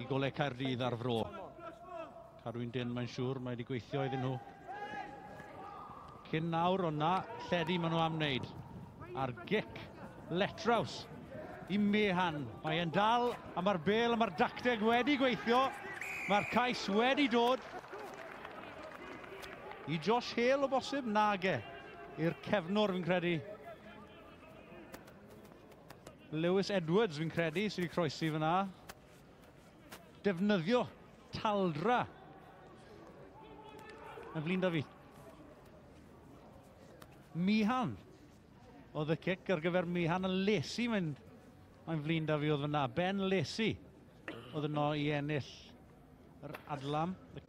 I Goleg Caerdydd a'r Fro. Cadw'n dyn, mae'n siŵr, mae wedi gweithio iddyn nhw. Cyn nawr, ond na, lledu maen nhw am wneud. A'r gic, letraws i Mehan. Mae e'n dal, a mae'r bel a mae'r dacteg wedi gweithio. Mae'r cais wedi dod. I Josh Hale o bosib, nage. I'r cefnwr fi'n credu. Lewis Edwards fi'n credu sydd wedi croesi fyna. Defnyddio taldra. Yn flin da fi. Mihan oedd y cic ar gyfer Mihan a Lesi. Mae'n flin da fi oedd fyna. Ben Lesi oedd yno i ennill yr adlam, y